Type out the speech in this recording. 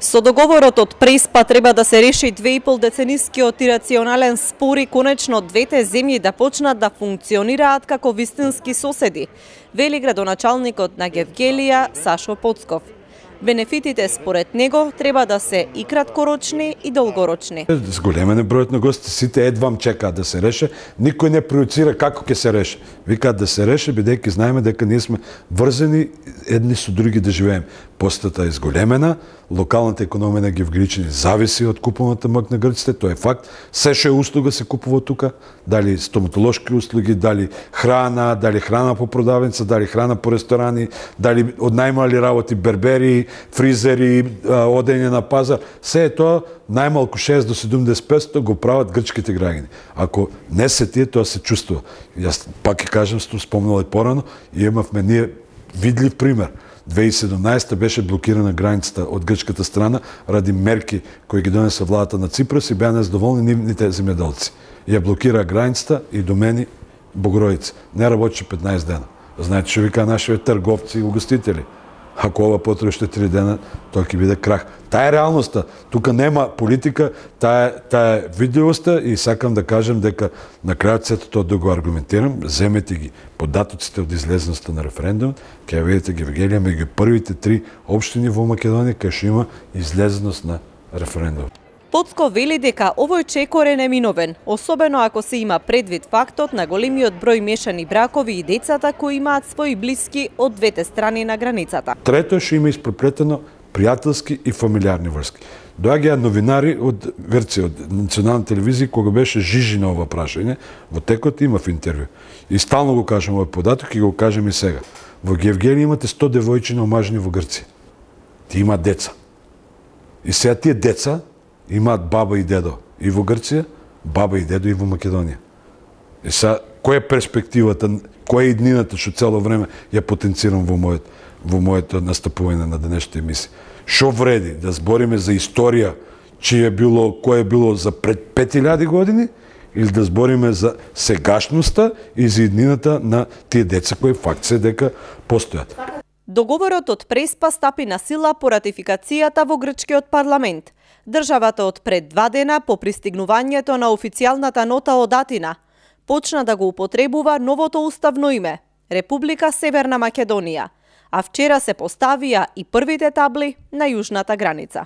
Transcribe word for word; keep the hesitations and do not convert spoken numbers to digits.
Со договорот од Преспа треба да се реши две и пол деценискиот ирационален спор и конечно двете земји да почнат да функционираат како вистински соседи, вели градоначалникот на Гевгелија Сашо Поцков. Бенефитите според него треба да се и краткорочни и долгорочни. Зголемен е бројот на гости, сите едвам чекаат да се реше, никој не проецира како ќе се реше. Викаат да се реше, бидејќи знаеме дека ние сме врзани едни со други да живееме. Постата е зголемена, локалната економија на Гевгеличани зависи од купуваната мак на грците, тоа е факт. Се што е услуга се купува тука, дали стоматолошки услуги, дали храна, дали храна по продавница, дали храна по ресторани, дали од најмали работи бербери, фризери, одење на пазар, се е тоа најмалку шест до седумдесет песто го прават грчките граѓани. Ако не се тие, тоа се чувствува. Јас пак ќе кажам, што спомнал и порано, и имавме ние видлив пример. две илјади и седумнаесета беше блокирана границата од грчката страна ради мерки кои ги донесе владата на Ципрас и беа незадоволни нивните земјоделци. Ја блокира границата и до мене Богородица. Не работеше петнаесет дена. Знаете што вика нашите трговци и угостители? Ако ова потребе уште три дена, тоа ќе биде крах. Таа е реалноста. Тука нема политика, таа таа е видливоста и сакам да кажам дека на крајот сето тоа да го аргументирам, земете ги податоците од излезноста на референдум, ќе видите Гевгелија меѓу првите три општини во Македонија кај што има излезност на референдум. Поцков вели дека овој чекор е неминовен, особено ако се има предвид фактот на големиот број мешани бракови и децата кои имаат своји блиски од двете страни на границата. Трето е што има испреплетено пријателски и фамилиарни врски. Доаѓаат новинари од Грција, од национална телевизија, кога беше жижи на ова прашање, во текот имав интервју. И стално го кажам овој податок и го кажем и сега. Во Гевгелија имате сто девојчиња омажени во Грција. Ти имаат деца. И сега тие деца имаат баба и дедо и во Грција, баба и дедо и во Македонија. И сега, која е перспективата, која е иднината што цело време ја потенцирам во мојот, во моето настапување на денешната емисија? Што вреди да збориме за историја, чие е било, кое е било за пред пет илјади години, или да збориме за сегашноста и за иднината на тие деца кои факт се дека постојат? Договорот од Преспа стапи на сила по ратификацијата во грчкиот парламент. Државата од пред два дена по пристигнувањето на официјалната нота од Атина почна да го употребува новото уставно име – Република Северна Македонија, а вчера се поставија и првите табли на јужната граница.